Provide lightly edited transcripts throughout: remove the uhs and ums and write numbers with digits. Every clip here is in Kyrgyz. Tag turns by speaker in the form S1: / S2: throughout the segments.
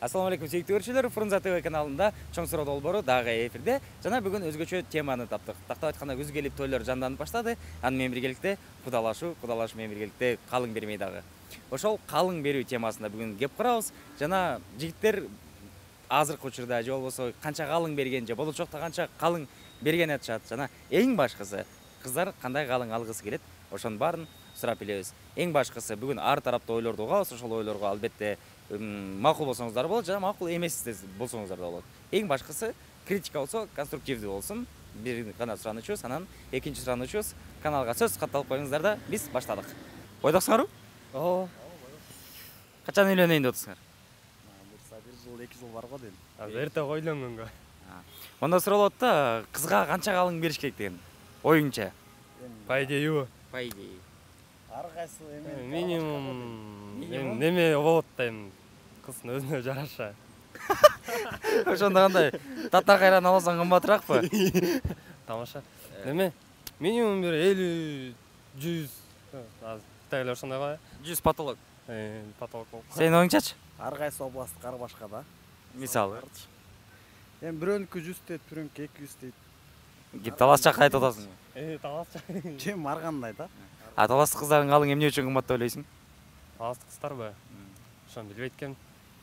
S1: Assalamu alaikum сүйүктүү көрүүчүлөр, Фрунзе ТВ каналында чоң суроо долбоору дагы эфирде. Жана бүгүн өзгөчө теманы таптык. Тактап айтканда күз келип тойлор жанданып баштады. Аны менен биргеликте кудалашуу менен биргеликте калың бермей дагы. Ошол калың берүү темасында бүгүн кеп курабыз. Жана жигиттер азыркы учурда же болбосо канча калың берген же болочокто канча калың берген айтышат. Жана эң башкысы кыздар кандай калың алгысы келет, ошонун баарын сурап билебиз. Эң башкысы бүгүн ар тараптуу ойлорду угабыз. Ошол ойлорго албетте макул болсоңуздар болот, жана макул эмес болсоңуздар да болот. Эң башкысы критика болсо конструктивдүү болсун. Бир гана суранычыбыз, анан экинчи суранычыбыз каналга сөз катталып коюңуздар да биз баштадык. Бойдоксуңарбы?
S2: Ооба.
S1: Качан үйлөнөйүн деп атасыңар?
S2: Бир жыл, 2 жыл бар го дейм.
S3: Эрте ойлонгонго.
S1: Монда суралат да, кызга канча калың бериш керек деген оюңча?
S3: По идее,
S1: По идее.
S2: Ар кайсы эме
S3: минимум неме болот да эми кыздын өзүнө жараша.
S1: Ошондо кандай? Татар кайран алсаң кымбатыракпы?
S3: Тамаша. Неме? Минимум бир 50, 100. Азыр Кытайлар ошондой го.
S1: 100 потолок.
S3: Потолок болуп.
S1: Сенин оюңчачы?
S2: ар кайсы областтык ар башка да.
S1: Мисалы.
S2: Эми бирөөнүкү 100 дейт, бирөөнүкү 200 дейт.
S1: Кеп талашчакка айтып атасың.
S3: Талашча.
S2: Кем ар кандай да?
S1: А таластык кыздардын калың эмне үчүн кымбат деп ойлойсуң?
S3: Таластык кыздарбы? Ошону билбейт экенмин.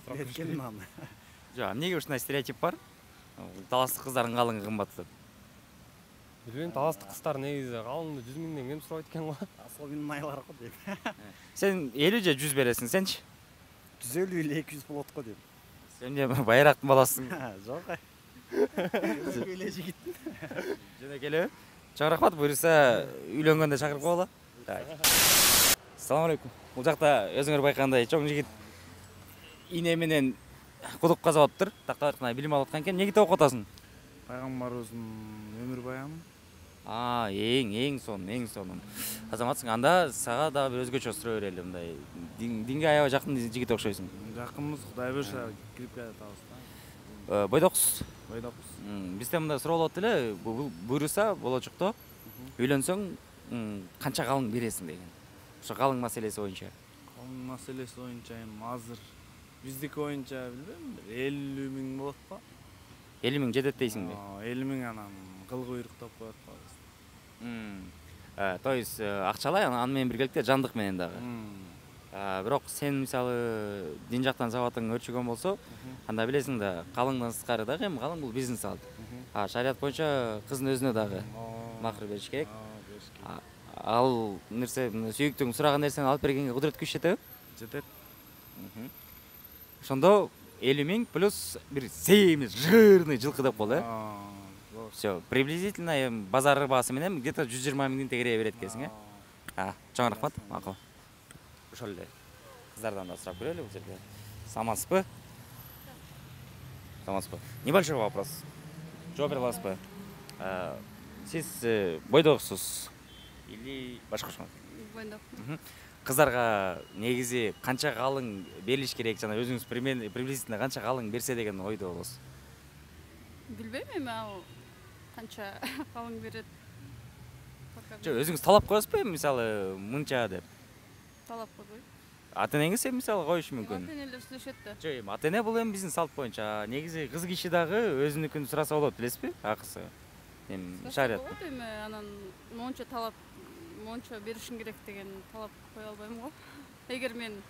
S2: Эткенмин аны.
S1: Жок, эмнеге ушундай стереотип бар? Таластык кыздардын калыңы кымбат деп.
S3: Билбейм, таластык кыздар негизи калыңды 100 миңден кем сурайт экен го.
S2: Особенно айлар го дейм.
S1: Сен 50 же 100 бересиң, сенчи?
S2: 150 или 200 болот го дейм.
S1: Сен эмне байрактын баласысың?
S2: Жок. Эле жигит.
S1: Жана келеби? Чоң рахмат, буюрса үйлөнгөндө чакырып коелу. Ассаламу алейкум. Бул жакта өзүңөр байкагандай чоң жигит ине менен кудук казып атыптыр. Тактап айтканда билим алып аткан экен. Эмне китеп окуп атасың?
S2: Пайгамбарыбыздын өмүр баянын.
S1: Эң сонун. Азаматсың. Анда сага дагы бир өзгөчө суроо берели, мындай. Динге аябай жакын жигит окшойсуң.
S2: Жакынбыз, Кудай буюрса кирип калабыз да.
S1: Бойдоксуз.
S2: Бойдокпуз.
S1: Бизде мындай суроолот эле, буюрса болочокто үйлөнсөң канча калың бересиң деген. Ошо калың маселеси боюнча.
S2: Калың маселеси боюнча эми азыр биздики боюнча билбейм, 50 миң болот го.
S1: 50 миң жетет дейсиңби?
S2: 50 миң анан кыл куйруктап коет калабыз.
S1: То есть акчалай, аны менен биргеликте жандык менен дагы. Бирок сен мисалы дин жактан сабатың өрчүгөн болсо, анда билесиң да, калыңдан сырткары дагы эми калың бул бизнес алды. Шарият боюнча кыздын өзүнө дагы макыр бериш керек. Ал нерсе сүйүктүң сураган нерсени алып бергенге кудурет күч жетеби?
S2: Жетет.
S1: Ошондо 50 миң плюс бир семиз жирный жылкы деп коелу, Все, приблизительно базар баасы менен где-то 120 миңдин тегерээ берет экенсиң, Чоң рахмат, макул. Ошол эле кыздардан да сурап көрөлү бул жерде. Саламатсызбы? Саламатсызбы? Небольшой вопрос. Жооп бере аласызбы? Сиз бойдоксуз или башкача?
S4: Бойдок.
S1: Кыздарга негизи канча калың берилиш керек жана өзүңүз приблизительно канча калың берсе деген ойдо болосуз?
S4: Билбейм эми ал канча калың берет.
S1: Жок, өзүңүз талап коесузбу, мисалы мынча деп?
S4: Талап койбойм.
S1: Ата-энеңиз мисалы коюшу мүмкүн.
S4: Ата-энелер сүйлөшөт да.
S1: Жок, эми ата-эне бул эми биздин салт боюнча. Негизи кыз киши дагы өзүнүкүн сураса болот, билесизби? Акысы. Эми шарият.
S4: Болот эми анан монча талап, монча беришиң керек деген талап кое албайм го. Эгер мен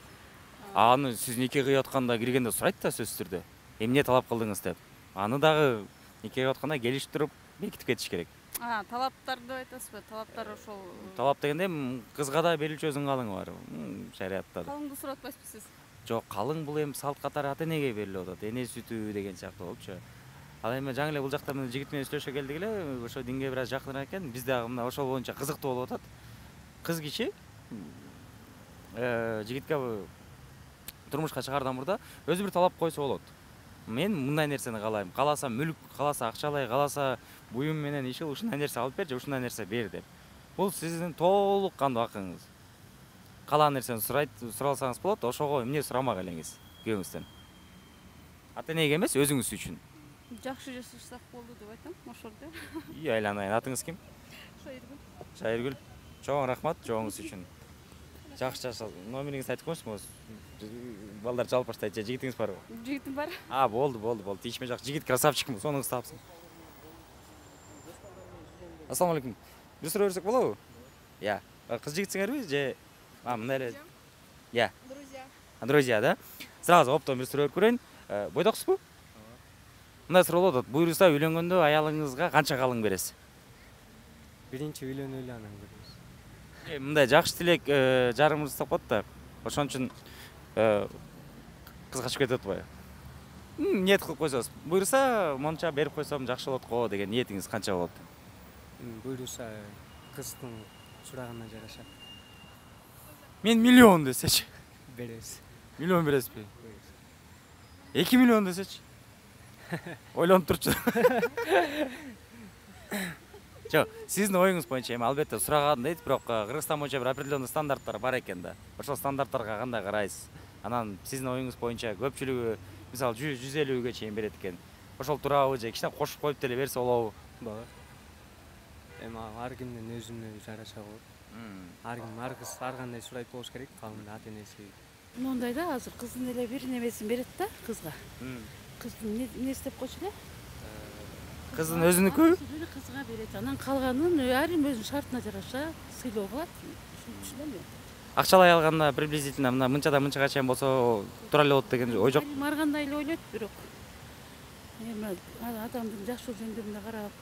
S1: Аны сиз нике кыйып атканда киргенде сурайт да сөзсүз түрдө. Эмне талап кылдыңыз деп. Аны дагы нике кыйып атканда келишип туруп бекитип кетиш керек.
S4: Талаптарды айтасызбы? Талаптар ошол.
S1: Талап дегенде кызга да берилчү өзүнүн калыңы бар. Шариятта да.
S4: Калыңды суратпайсызбы сиз?
S1: Жок, калың бул эми салт катары ата-энеге берилип атат. Эне сүтү деген сыяктуу болупчу. Ал эми жаңы эле бул жакта жигит менен сүйлөшө келдик эле, ошо динге бир аз жакыныраак экен. Бизде мына ошол боюнча кызыктуу болуп атат. Кыз киши жигитке турмушка чыгаардан мурда өзү бир талап койсо болот. Мен мындай нерсени каалайм. Кааласа мүлк, кааласа акчалай, кааласа буюм менен ишил ушундай нерсе алып бер же ушундай нерсе бер деп. Бул сиздин толук кандуу акыңыз. Каалаган нерсени суралсаңыз болот, ошого эмне сурамак элеңиз күйөөңүздөн. Ата-энеге эмес, өзүңүз үчүн.
S4: Жакшы жашасак болду деп айтам, ошордо.
S1: Айланайын. Атыңыз ким?
S4: Шайыргүл.
S1: Шайыргүл. Чоң рахмат жооңуз үчүн. Жакшы жакшы. Номериңизди айтып коюңузбу? Балдар жалп баштайт же жигитиңиз барбы?
S4: Жигитим бар.
S1: Болду. Тиешме жак. Жигит красавчикмин, сонуңуз тапсын. Ассаламу алейкум. Бир суроо берсек болобу? Я. Кыз жигитсиңерби же мындай эле? Я. Друзья, да? Сразу оптом бир суроо берип көрөйүн. Бойдоксузбу? Мындай суроо болот. Буйруса үйлөнгөндө аялыңызга канча калың бересиз?
S3: Биринчи үйлөнөлү анан көрөбүз.
S1: Мындай жакшы тилек жарымыбыз тапат да. Ошон үчүн кызга чыгып кетип атпайбы? Ниет кылып койсоңуз, буйруса монча берип койсом жакшы болот го деген ниетиңиз канча болот?
S3: Буйруса кыздын сурагына жараша
S1: Мен миллион десечи.
S3: беребиз.
S1: Миллион бересизби? 2 миллион десечи. Ойлонуп турчу. Жок, сиздин оюңуз боюнча эми албетте сураган дейт, бирок Кыргызстан боюнча бир определенный стандарттар бар экен да. Ошол стандарттарга кандай карайсыз? Анан сиздин оюңуз боюнча көпчүлүгү мисалы 100-150 чейин берет экен. Ошол туурабы же кичине кошуп коюп деле берсе болобу?
S3: Баа. Эми ар кимдин өзүнө жараша болот. Ар ким ар кыз ар кандай сурайт болуш керек, калымды ата энеси.
S5: Мондай да азыр кыздын эле бир немесин берет да кызга. Кыздын эмне деп койчу эле?
S1: Кыздын өзүнүкү?
S5: Кызга берет. Анан калганын ар ким өзүнүн шартына жараша сыйлоо кылат. Түшүнөм мен.
S1: Акчалай алганда приблизительно мына мынчадан мынчага чейин болсо тура эле болот деген ой жок.
S5: Ар кандай эле ойлойт бирок. Эми адамдын жашоо жөндөмүнө карап.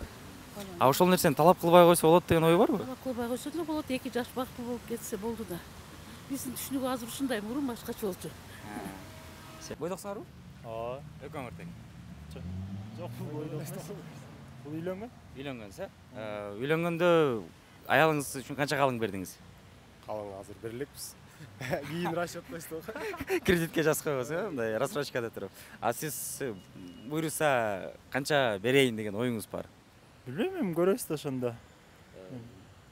S1: А ошол нерсени талап кылбай койсо болот деген ой барбы?
S5: Талап кылбай койсо деле болот, эки жаш бактылуу болуп кетсе болду да. Биздин түшүнүгү азыр ушундай, мурун башкача болчу.
S1: Бойдоксуңарбы?
S3: Ооба.
S1: Экөөңөр тең.
S3: Жок, бул үйлөнгөн.
S1: Үйлөнгөнсүз, үйлөнгөндө аялыңыз үчүн канча калың бердиңиз?
S3: Калың азыр берелекпиз. Кийин расчеттойсуз.
S1: Кредитке жазып койбосуз, мындай рассрочкада туруп. А сиз буйруса канча берейин деген оюңуз бар?
S2: Билбейм, эми көрөбүз да ошондо.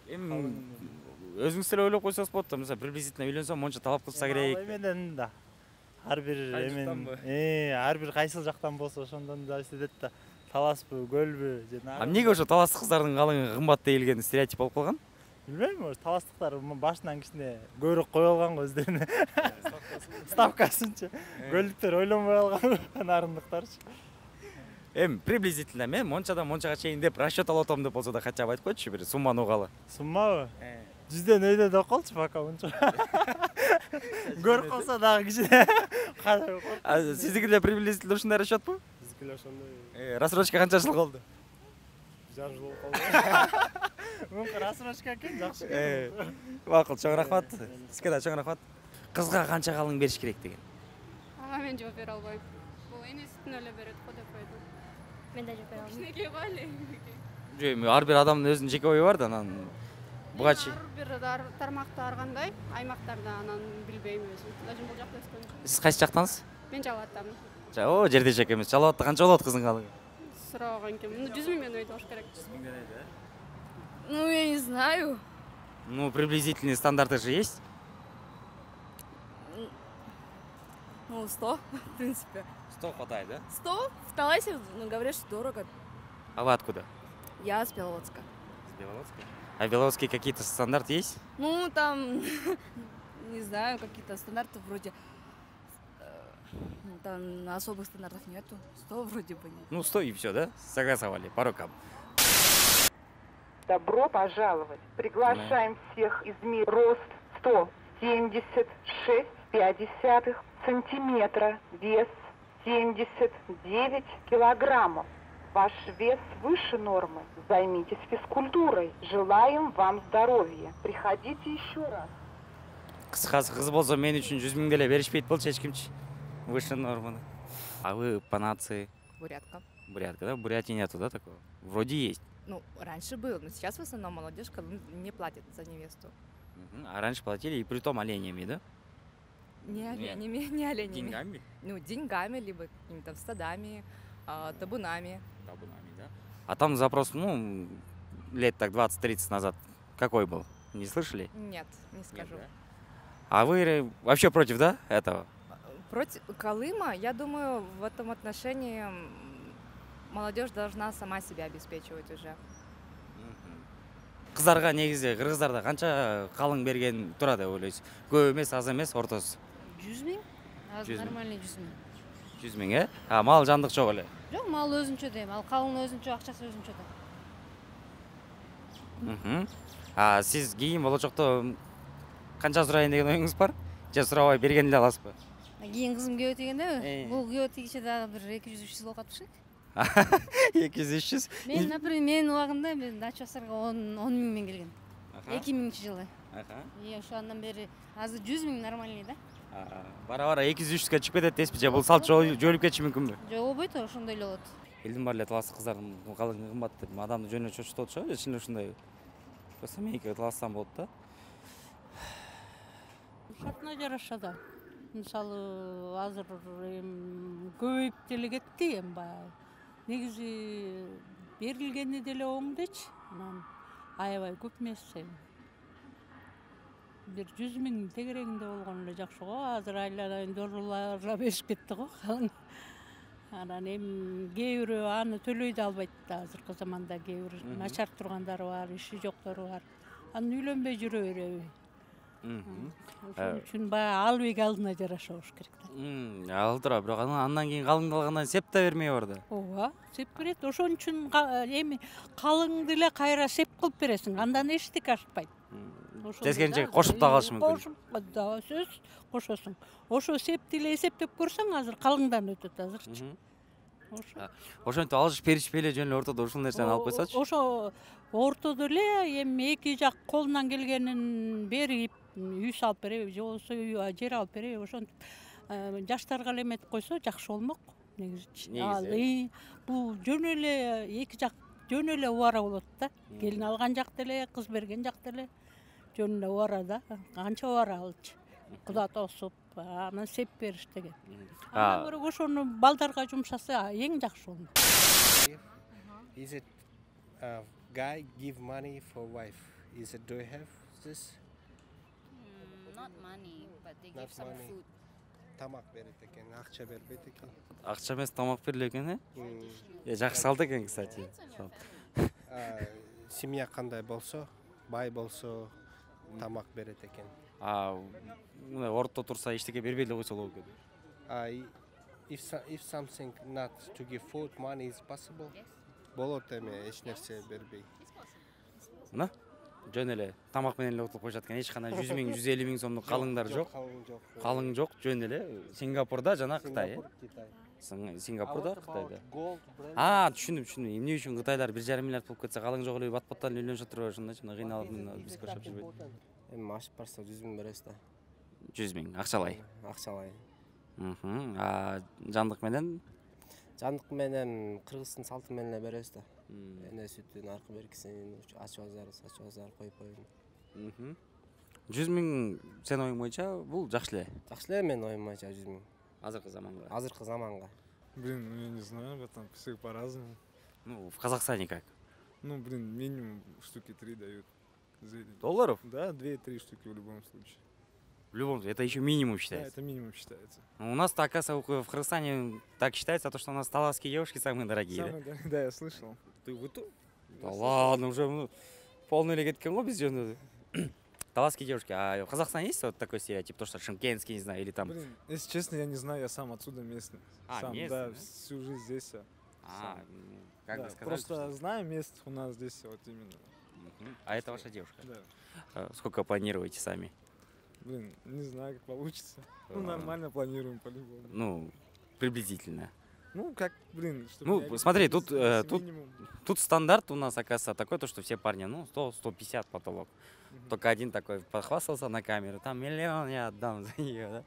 S1: Эми өзүңүз эле ойлоп койсоңуз болот да, мисалы приблизительно үйлөнсөм монча талап кылса керек.
S2: Ал менен да. Ар бир эмен, ар бир кайсыл жактан болсо ошондон зависит этет да. Таласпы, көлбү же
S1: А эмнеге ошо таластык кыздардын калыңы кымбат deyилген стереотип болуп калган?
S2: Билбейм, ошо таластыктар башынан кичине көбүрөөк кое алган го өздөрүнө. Ставкасынчы. Көлдүктөр ойлонбой алган нарындыктарчы.
S1: Эми приблизительно мен мончадан мончага чейин деп расчет алып атам деп болсо да хотя бы айтып койчу, бир сумманы угалы.
S2: Суммабы? 100дөн өйдө деп калчу пока унча. Көрүп калса дагы кичине.
S1: А сиздики деле приблизительно ушундай расчетпу?
S3: Биздики эле ошондой.
S1: Рассрочка канча жыл калды?
S3: Жарым жыл болуп калды.
S2: Мүмкүн рассрочка экен, жакшы.
S1: Макул, чоң рахмат. Сизге да чоң рахмат. Кызга канча калың бериш керек деген?
S4: Ага, мен жооп бере албайм. Бул энесине эле берет го деп койду.
S6: Мен да жооп бере алмайм.
S4: Кичинекей го эле.
S1: Эми ар бир адамдын өзүнүн жеке ою бар да, анан буга чейин.
S4: Ар бир тармакта ар кандай, аймактарда анан билбейм өзүм. Даже бул жакта өскөн жок.
S1: Сиз кайсы жактансыз?
S4: Мен Жалаттамын.
S1: О, жердешек эмес. Жалалатта канча болот кыздын калыңы?
S4: Сураган ким? 100 миңден өйдө болуш керек.
S1: 100 миңден өйдө,
S6: Ну, я не знаю.
S1: Ну, приблизительные стандарты же есть.
S6: Ну, 100, в принципе.
S1: 100 хватает, да?
S6: 100? В Талайсе, ну, говорят, что дорого.
S1: А вы откуда?
S6: Я с Беловодска.
S1: С Беловодска. А в Беловодске какие-то стандарты есть?
S6: Ну, там, не знаю, какие-то стандарты вроде... Там особых стандартов нету. 100 вроде бы нет.
S1: Ну, 100 и все, да? Согласовали, по рукам.
S7: Добро пожаловать. Приглашаем всех из мира. Рост 176,5 сантиметра. Вес 79 килограммов. Ваш вес выше нормы. Займитесь физкультурой. Желаем вам здоровья. Приходите еще раз.
S1: Кыскасы кыз болсо мен үчүн 100 миң деле беришпейт болчу эч кимчи. Выше норманы. А вы по нации?
S8: Бурятка.
S1: Бурятка, да? В Бурятии нету, да, такого? Вроде есть.
S8: Ну, раньше был, но сейчас в основном молодежь не платит за невесту.
S1: А раньше платили, и при том оленями, да?
S8: Не оленями, не оленями.
S1: Деньгами?
S8: Ну, деньгами, либо какими-то стадами, табунами.
S1: Табунами, да? А там запрос, ну, лет так 20-30 назад какой был? Не слышали?
S8: Нет, не скажу.
S1: Нет, да? А вы вообще против, да, этого?
S8: Против Колыма, я думаю, в этом отношении молодежь должна сама себя обеспечивать уже.
S1: кыздарга негизи кыргыздарда канча калың берген турат деп ойлойсуз? Көп эмес, аз эмес, ортосу?
S6: 100 000. Азыр
S1: 100 000.
S6: нормальный 100 000.
S1: 100 000, мал жандык жок эле.
S6: Жок, мал өзүнчө дейм. Ал калың өзүнчө, акчасы өзүнчө да.
S1: Сиз кийин болочокто канча сурайын деген оюңуз бар? Же сурабай берген эле аласызбы?
S6: Кийин кызым күйөө тийгенде, бул күйөө тийгиче дагы бир 200-300 болуп калыпчы.
S1: 200-300?
S6: Мен, например, менин убагында мен дача басарга 10 000 менен келген. 2000-жылы. И ошо андан бери азыр 100 000 нормальный да.
S1: Бара-бара 200-300га чыгып кетет дейсизби же бул салт жойулуп кетиши мүмкүнбү?
S6: Жок, болбойт, ошондой эле болот.
S1: Элдин баары эле таластык кыздардын калыңы кымбат деп адамды жөн эле чочутуп атышабы, чын эле ушундай. Просто меники талассам болот да.
S5: Шартына жараша да. Мисалы, азыр көбөйүп деле кетти эми баягы. Негизи берилгени деле оң дечи. Анан аябай көп эмес эми. Бир 100 000 тегерегинде болгон эле жакшы го. Азыр айланайын дорлар бешип кетти го. Анан эми кээ бирөө аны төлөй да албайт да азыркы заманда, кээ бир начар тургандары бар, иши жоктору бар. Анан үйлөнбөй жүрө береби. Ошон үчүн баягы албек алдына жараша болуш керек да.
S1: Ал тура, бирок андан кийин калыңдалгандан сеп да бермей бар да.
S5: Ооба, сеп берет. Ошон үчүн эми калыңды эле кайра сеп кылып бересиң, андан эчтеке ашпайт.
S1: Тескеринче кошуп да калышы мүмкүн.
S5: Кошуп да сөз кошосуң. Ошо септи эле эсептеп көрсөң, азыр калыңдан өтөт азырчы.
S1: Ошентип алыш беришпей эле жөн эле ортодо ушул нерсени алып койсочу.
S5: Ошо ортодо эле эми эки жак колунан келгенин берип, үй салып береби, же болбосо жер алып береби, ошентип жаштарга эле эметип койсо жакшы болмок негизичи. Ал бул жөн эле эки жак жөн эле убара болот да. Келин алган жак деле, кыз берген жак деле жөн эле убара да. Канча убара алчы. Куда тосуп, анан сеп бериш деген. Андан көрө ошону балдарга жумшаса эң жакшы болмок.
S9: Is it guy give money for wife? Is it, do you have this?
S6: Not money, but they
S9: Not
S6: give some
S9: money.
S6: food.
S9: Тамак берет экен, акча бербейт экен.
S1: Акча эмес, тамак берилет экен, жакшы салт экен, кстати.
S9: Семья кандай болсо, бай болсо тамак берет экен.
S1: Мындай орто турса эчтеке бербей эле койсо болот экен.
S9: If something not to give food, money is possible. Болот эми эч нерсе бербей.
S1: Мына жөн эле тамак менен эле отуруп коюшат экен. Эч кандай 100 000, 150 000 сомдук калыңдар жок. Калың жок, жөн эле Сингапурда жана Кытай. Сингапурда, Кытайда. Түшүндүм. Эмне үчүн Кытайлар 1,5 миллиард болуп кетсе, калың жок эле бат-баттан үйлөнүшөт турбайбы, ошондойчу кыйналып бизге окшоп жүрбөйт.
S9: Эми ашып барса 100 000 беребиз да.
S1: 100 000 акчалай.
S9: Акчалай.
S1: Жандык менен?
S9: Жандык менен кыргыздын салты менен эле беребиз да. Эне сүтүн, аркы беркисин, ачып-азар коюп коюп.
S1: 100 000 сен оюң боюнча бул жакшы эле.
S9: Жакшы эле менин оюм боюнча 100 000.
S1: Азыркы заманга.
S10: Блин, я не знаю, там всех по-разному.
S1: Ну, в Казахстане как?
S10: Ну, блин, минимум штуки 3 дают.
S1: Долларов?
S10: Да, 2-3 штуки в любом случае.
S1: В любом случае, это еще минимум считается?
S10: Да, это минимум считается.
S1: У нас-то, оказывается, в Кыргызстане так считается, то, что у нас таласские девушки самые дорогие.
S10: Самые дорогие, да, я слышал.
S1: Ты вы тут? Да ладно, уже полный легет кого без жёны. Таласские девушки. А в Казахстане есть вот такой стереотип, то, что шымкентский, не знаю, или там...
S10: Блин, если честно, я не знаю, я сам отсюда местный. Сам,
S1: местный,
S10: да, всю жизнь здесь.
S1: Как
S10: да,
S1: бы сказать,
S10: просто
S1: что...
S10: знаю мест у нас здесь вот именно.
S1: А это ваша девушка?
S10: Да.
S1: Сколько планируете сами?
S10: Блин, не знаю, как получится. Ну, нормально планируем по-любому.
S1: Ну, приблизительно.
S10: Ну, как, блин, чтобы...
S1: Ну, смотри, тут стандарт у нас, оказывается, такой, то, что все парни, 100-150 потолок. Только один такой похвастался на камеру, там 1 000 000 я отдам за нее, да?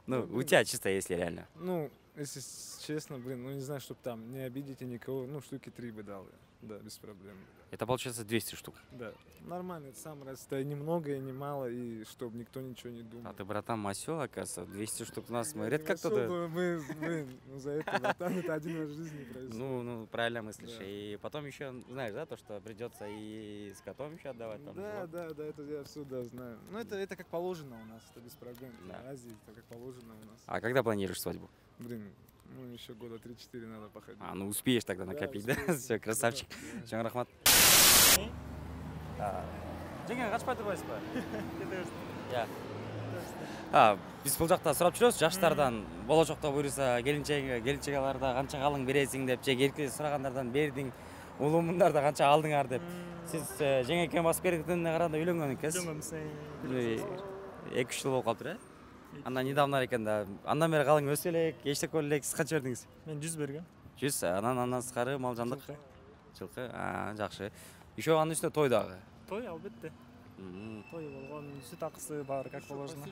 S1: Ну, у тебя чисто, если реально.
S10: Ну, если честно, блин, не знаю, чтобы там не обидеть никого, штуки 3 бы дал, да, без проблем.
S1: Это получается 200 штук?
S10: Да, нормально, это самый раз, это ни много и ни мало, и чтобы никто ничего не думал.
S1: А ты, братан, масёл, оказывается, 200 штук у нас, мы редко кто-то...
S10: Мы, за это, братан, это один раз в жизни происходит.
S1: Ну, правильно мыслишь, и потом еще, знаешь, да, то, что придется и с котом еще отдавать там.
S10: Да, это я все, да, знаю. Ну, это как положено у нас, это без проблем.
S1: Да.
S10: В Азии это как положено у нас.
S1: А когда планируешь свадьбу?
S10: Блин, еще года 3-4 надо походить.
S1: Ну успеешь тогда накопить, да? Все, красавчик. Чоң рахмат. Жеңе качпай турбайсызбы?
S2: Кете берсин.
S1: Биз бул жакта сурап жүрөбүз жаштардан болочокто буюрса келинчек аларда канча калың бересиң деп, же керекли сурагандардан бердиң, улумундарда канча алдыңар деп. Сиз жеңекең басып бергенине караганда үйлөнгөн экенсиз.
S2: Үйлөнгөнбүз.
S1: 2-3 жыл болуп калыптыр, Андан недавно экен да. Андан бери калың өсө элек, эчтеке элек. Сиз канча бердиңиз?
S2: Мен 100 бергем.
S1: 100, андан сырткары мал жандык. Жылкы. Жакшы. Еще анын үстүнө той дагы.
S2: Той албетте. Той болгон, сүт акысы бар, как положено.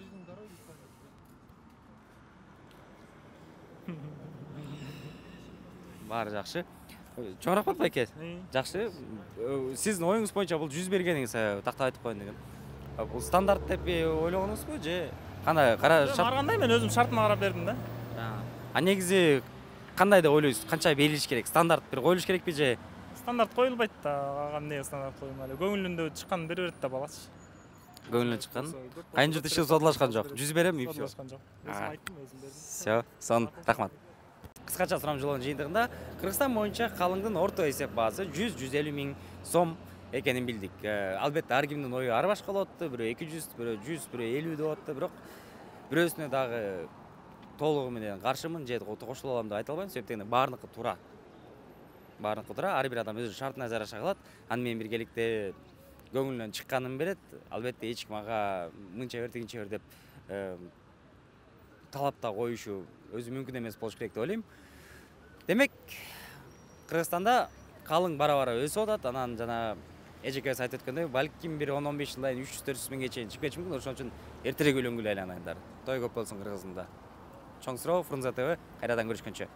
S1: Баары жакшы. Чоңураак болуп байке. Жакшы. Сиздин оюңуз боюнча бул 100 бергениңиз тактап айтып коеюн дегем. Бул стандарт деп ойлогонуңузбу же кандай караш?
S2: Ар кандай мен өзүм шартыма карап бердим да.
S1: Негизи кандай деп ойлойсуз? Канча берилиш керек? Стандарт бир коюлуш керекпи же?
S2: Стандарт коюлбайт да. Ага эмне стандарт коюм эле. Көңүлүндө чыкканын бере берет да балачы.
S1: Көңүлүнөн чыккан. Кайын журт иши содулашкан жок. 100 берем и всё.
S2: Содулашкан жок. Өзүм айттым, өзүм бердим.
S1: Всё, сон, рахмат. Кыскача сурамжылоонун жыйынтыгында Кыргызстан боюнча калыңдын орто эсеп баасы 100-150 миң сом экенин билдик. Албетте ар кимдин ою ар башка болот, бирөө 200, бирөө 100, бирөө 50 деп атты, бирок бирөөсүнө дагы толугу менен каршымын же кошулуп алам деп айта албайм, себептен баарыныкы туура. Баарыныкы туура, ар бир адам өзүнүн шартына жараша кылат. Аны менен биргеликте көңүлүнөн чыкканын берет. Албетте эч ким ага мынча бер, тигинче бер деп талапта коюшу өзү мүмкүн эмес болуш керек деп ойлойм. Демек, Кыргызстанда калың бара-бара өсүп атат. Анан жана эжекебиз айтып өткөндөй, балким бир 10-15 жылдан кийин 300-400 миңге чейин чыгып кетиши мүмкүн. Ошон үчүн эртерээк үйлөнгүлө айланайындар. Той көп болсун Кыргызстанда. Чоң суроо, Фрунзе ТВ, кайрадан көрүшкөнчө.